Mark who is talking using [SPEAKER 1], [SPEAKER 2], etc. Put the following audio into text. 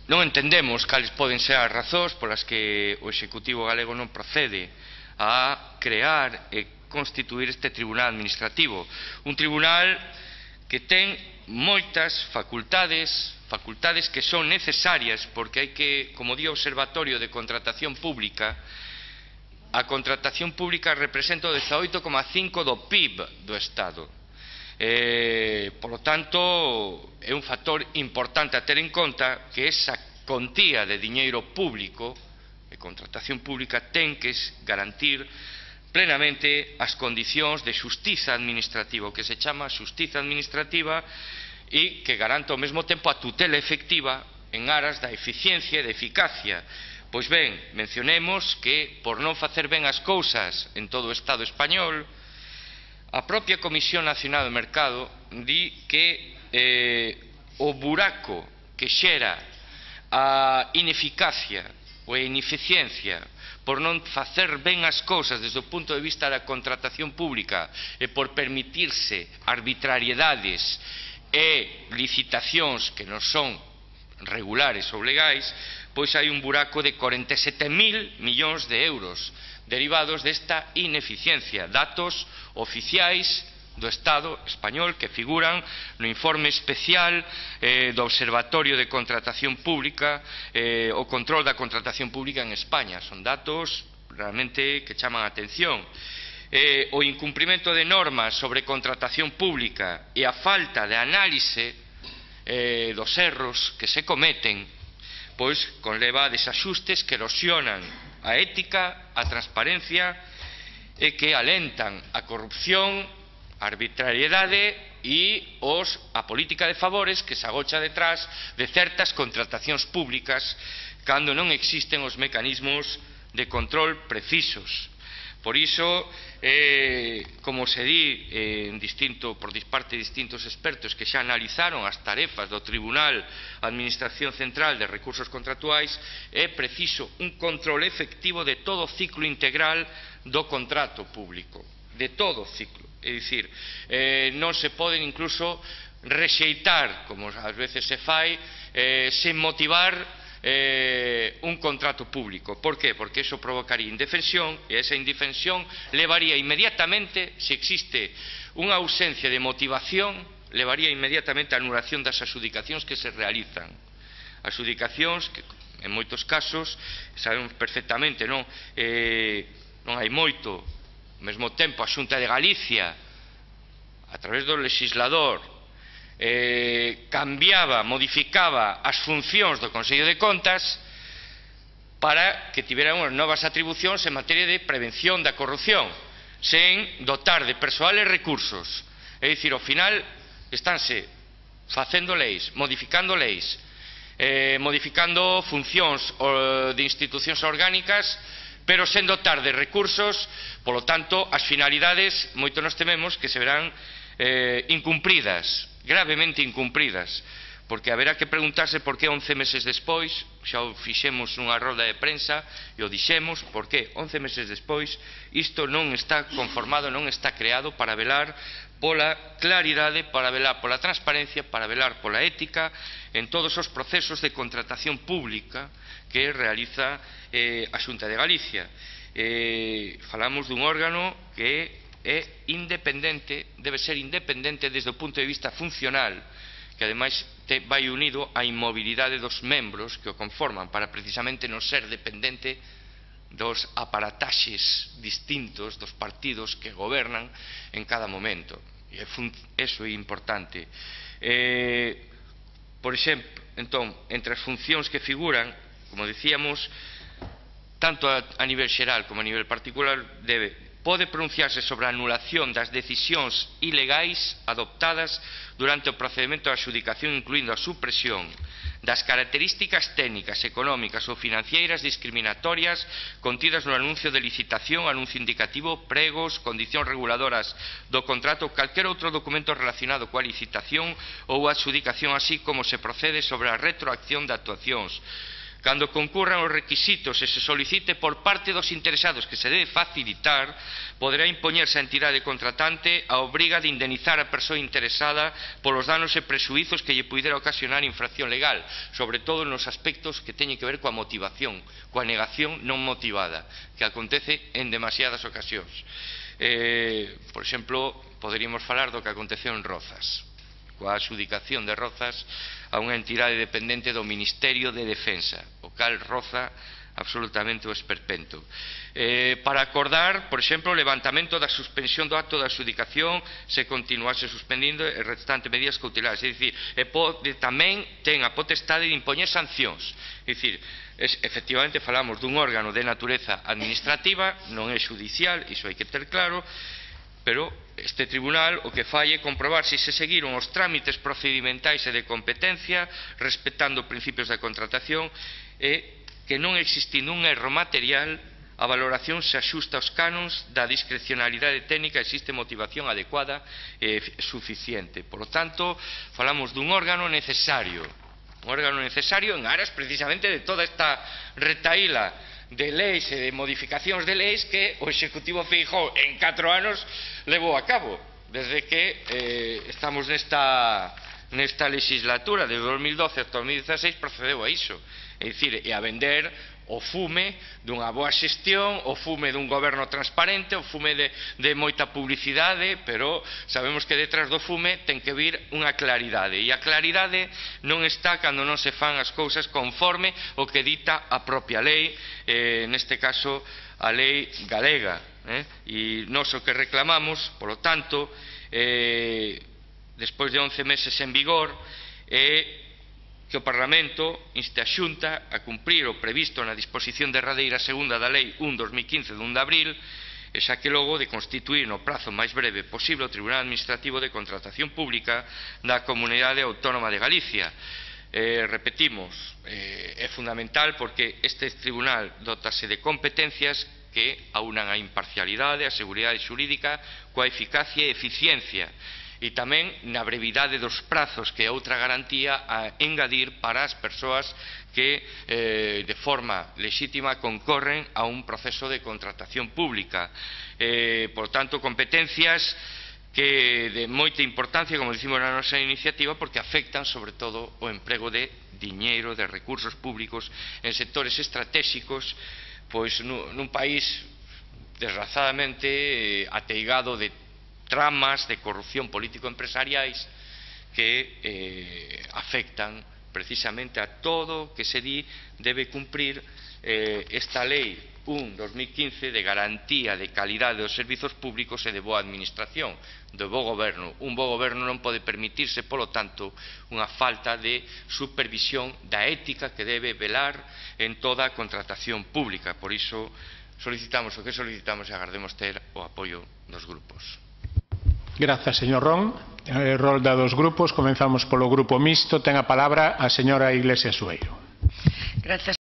[SPEAKER 1] non entendemos cales poden ser as razóns polas que o Executivo galego non procede a crear e constituir este tribunal administrativo. Un tribunal que ten moitas facultades que son necesarias, porque hai que, como di o Observatorio de Contratación Pública, a contratación pública representa o 18,5% do PIB do Estado. Por lo tanto, é un factor importante a ter en conta que esa contía de diñeiro público, de contratación pública, ten que garantir plenamente as condicións de xustiza administrativa, o que se chama xustiza administrativa, e que garanta ao mesmo tempo a tutela efectiva en aras da eficiencia e da eficacia. Pois ben, mencionemos que, por non facer ben as cousas en todo o Estado español, a propia Comisión Nacional do Mercado di que o buraco que xera a ineficacia ou a ineficiencia por non facer ben as cousas desde o punto de vista da contratación pública e por permitirse arbitrariedades e licitacións que non son regulares ou legais, pois hai un buraco de 47.000 millóns de euros derivados desta ineficiencia, datos oficiais do Estado español que figuran no informe especial do Observatorio de Contratación Pública, o control da contratación pública en España. Son datos realmente que chaman a atención. O incumprimento de normas sobre contratación pública e a falta de análise dos erros que se cometen, pois conleva a desaxustes que erosionan a ética, a transparencia e que alentan a corrupción, a arbitrariedade e a política de favores que se agocha detrás de certas contratacións públicas cando non existen os mecanismos de control precisos. Por iso, como se di por parte de distintos expertos que xa analizaron as tarefas do Tribunal Administración Central de Recursos Contractuais, é preciso un control efectivo de todo o ciclo integral do contrato público, de todo o ciclo. É dicir, non se poden incluso rexeitar, como ás veces se fai, sen motivar un contrato público. Por qué? Porque eso provocaría indefensión e esa indefensión levaría inmediatamente, se existe unha ausencia de motivación, levaría inmediatamente a anulación das adxudicacións que se realizan. Adxudicacións que en moitos casos sabemos perfectamente, non hai moito, ao mesmo tempo a Xunta de Galicia a través do legislador cambiaba, modificaba as funcións do Consello de Contas para que tiveran unhas novas atribucións en materia de prevención da corrupción, sen dotar de persoal e recursos. É dicir, ao final estánse facendo leis, modificando funcións de institucións orgánicas, pero sen dotar de recursos. Polo tanto, as finalidades moito nos tememos que se verán incumpridas, gravemente incumpridas, porque haberá que preguntarse por que 11 meses despois, xa o fixemos nunha roda de prensa e o dixemos, por que 11 meses despois isto non está conformado, non está creado para velar pola claridade, para velar pola transparencia, para velar pola ética en todos os procesos de contratación pública que realiza a Xunta de Galicia. Falamos dun órgano que é independente, debe ser independente desde o punto de vista funcional, que ademais vai unido á inmobilidade dos membros que o conforman para precisamente non ser dependente dos aparataxes distintos dos partidos que gobernan en cada momento. E iso é importante. Por exemplo, entón, entre as funcións que figuran, como decíamos, tanto a nivel xeral como a nivel particular, pode pronunciarse sobre a anulación das decisións ilegais adoptadas durante o procedimento de adxudicación, incluindo a supresión das características técnicas, económicas ou financeiras discriminatorias contidas no anuncio de licitación, anuncio indicativo, pregos, condicións reguladoras do contrato ou calquer outro documento relacionado coa licitación ou adxudicación, así como se procede sobre a retroacción de actuacións Cando concurran os requisitos e se solicite por parte dos interesados que se debe facilitar, poderá impoñerse a entidade contratante a obriga de indemnizar a persoa interesada polos danos e prexuízos que lle puidera ocasionar infracción legal, sobre todo nos aspectos que teñen que ver coa motivación, coa negación non motivada, que acontece en demasiadas ocasións. Por exemplo, poderíamos falar do que aconteceu en Rozas, coa adxudicación de Rozas a unha entidade dependente do Ministerio de Defensa, o cal roza absolutamente o esperpento. Para acordar, por exemplo, o levantamento da suspensión do acto de adxudicación se continuase suspendindo e restantes medidas cautelares, é dicir, tamén ten a potestade de impoñer sancións, é dicir, efectivamente falamos dun órgano de natureza administrativa, non é xudicial, iso hai que ter claro, pero este tribunal o que fai é comprobar se se seguiron os trámites procedimentais e de competencia respectando principios da contratación e que non existindo un erro material a valoración se axusta aos canons da discrecionalidade técnica e existe motivación adecuada e suficiente. Por lo tanto, falamos dun órgano necesario en aras precisamente de toda esta retaíla de leis e de modificacións de leis que o Executivo Feijóo en 4 anos levou a cabo, desde que estamos nesta legislatura, desde 2012 ata 2016 procedeu a iso, é dicir, e a vender o fume dunha boa xestión, o fume dun goberno transparente, o fume de moita publicidade, pero sabemos que detrás do fume ten que vir unha claridade, e a claridade non está cando non se fan as cousas conforme o que dita a propia lei, neste caso a lei galega, e nós o que reclamamos, polo tanto, despois de 11 meses en vigor, é que o Parlamento inste a Xunta a cumprir o previsto na disposición derradeira segunda da Lei 1/2015 de 1 de abril, e xa que logo de constituir no prazo máis breve posible o Tribunal Administrativo de Contratación Pública da Comunidade Autónoma de Galicia. Repetimos, é fundamental porque este tribunal dotase de competencias que aunan a imparcialidade, a seguridade xurídica coa eficacia e eficiencia, e tamén na brevidade dos prazos, que é outra garantía a engadir para as persoas que de forma lexítima concorren a un proceso de contratación pública. Por tanto, competencias que de moita importancia, como dicimos na nosa iniciativa, porque afectan sobre todo o emprego de diñeiro, de recursos públicos en sectores estratégicos, pois nun país desgraciadamente ateigado de tramas de corrupción político-empresariais que afectan precisamente a todo que se di debe cumprir esta lei 1/2015 de garantía de calidade dos servizos públicos e de boa administración, de bo goberno. Un bo goberno non pode permitirse, polo tanto, unha falta de supervisión da ética que debe velar en toda a contratación pública. Por iso solicitamos o que solicitamos e agardemos ter o apoio dos grupos.
[SPEAKER 2] Grazas, señor Ron. Rolda dos grupos. Comenzamos polo Grupo Mixto. Ten a palabra a señora Iglesias Sueiro.
[SPEAKER 3] Grazas.